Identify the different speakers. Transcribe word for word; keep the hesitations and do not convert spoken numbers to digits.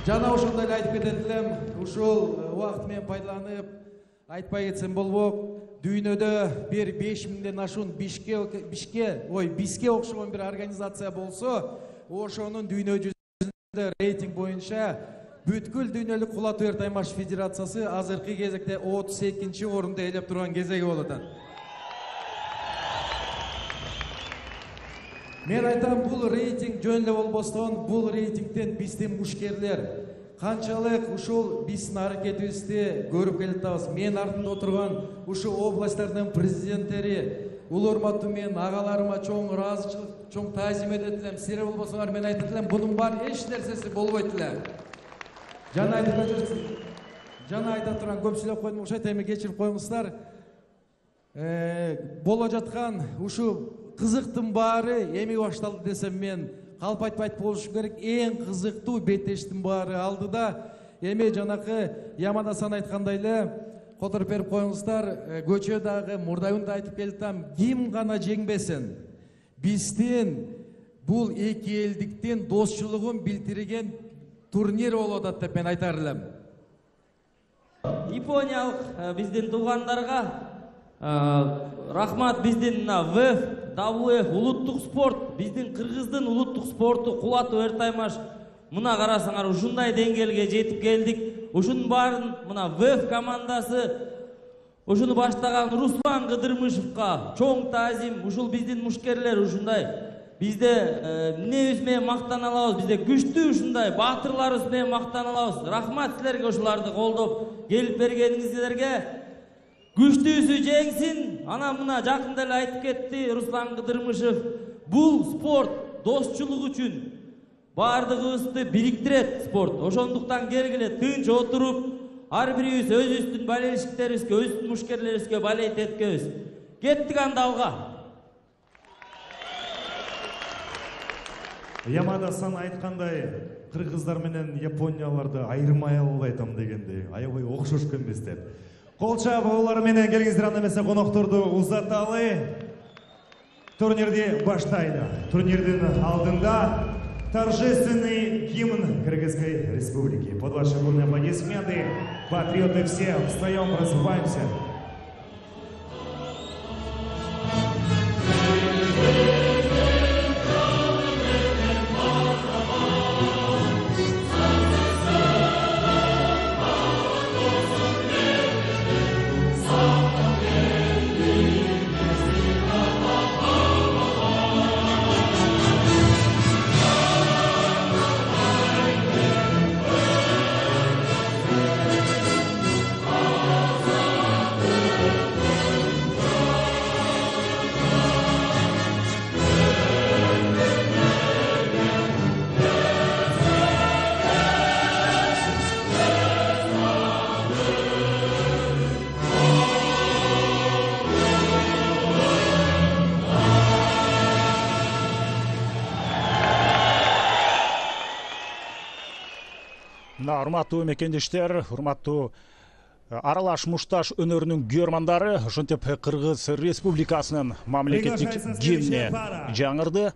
Speaker 1: Жана ошондой эле айтып кетет элем, ушул убакыт менен пайдаланып айтпай кетсем болбок, дүйнөдө бир беш миңден ашуун бишке бишке, ой, биске окшогон бир организация болсо, ошонун дүйнө жүзүндө рейтинг боюнча бүткүл дүйнөлүк кулатуу эр таймаш федерациясы азыркы кезекте отуз экинчи орунду ээлеп турган кезеги болуп атат. Мен айтам, бул рейтинг жөн эле болбостон, бул рейтингден биздин мушкерлер канчалык ушул биздин аракетибизди көрүп келатабыз. Мен артында отурган ушул областтардын президенттери, улуу урматтуу менин агаларыма чоң ыраазычылык, чоң таазим этет элем. Силер болбосоңар, мен айтат элем, бунун баары эч нерсеси болбойт эле. Жана айтып жана айта турган көп сүйлөп койдум, окшойт, эми кечирип коюңуздар. Боло жаткан ушул кызыктын баары эми башталды десем мен калп айтпайт болушум керек. Эң кызыктуу беттештин баары алдыда. Эми жанакы Яман-Асан айткандай эле которуп берип коюңуздар. Көчө дагы мурдайында айтып келатам, ким гана жеңбесин. Биздин бул эки элдиктин досчулугун билдирген турнир болуп атат деп мен айтар элем.
Speaker 2: Япониялык биздин туугандарга рахмат. Биздин ВФ дабл ю эф улуттук спорт, биздин кыргыздын улуттук спорту кулатуу эр таймаш. Мына карасаңар, ушундай деңгээлге жетип келдик. Ушунун баарын мына ВФ командасы, ушуну баштаган Руслан Кыдырмышевка чоң таазим. Ушул биздин мушкерлер ушундай. Бизде эмнебиз менен мактана алабыз, бизде күчтүү ушундай баатырларыбыз менен мактана алабыз. Рахмат силерге ушуларды колдоп келип бергениңиздерге. Күчтүүсү жеңсин. Ана мына жакында эле айтып кетти Руслан Кыдырмышев. Бул спорт досчулук үчүн баардыгыбызды бириктирет спорт. Ошондуктан келгиле тынч отуруп, ар бирибиз өзүбүздүн болельщиктерибизге, өзүбүздүн мушкерлерибизге болеть эткенбиз. Кеттик анда алга.
Speaker 3: Яман-Асан айткандай, кыргыздар менен японияларды айырмай албайм дегенди, аябай окшош экенбиз деп. Кол чабуулар менен келиңиздер, анда эмесе конокторду узаталы. Турнирди баштайлы. Турнирдин алдында торжественный гимн Кыргызской Республики. Под ваши бурные аплодисменты, патриоты все, встаем, развиваемся.
Speaker 4: Урматтуу мекендештер, урматтуу аралаш мушташ өнөрүнүн күйөрмандары, ошентип Кыргыз Республикасынын мамлекеттик гимни жаңырды.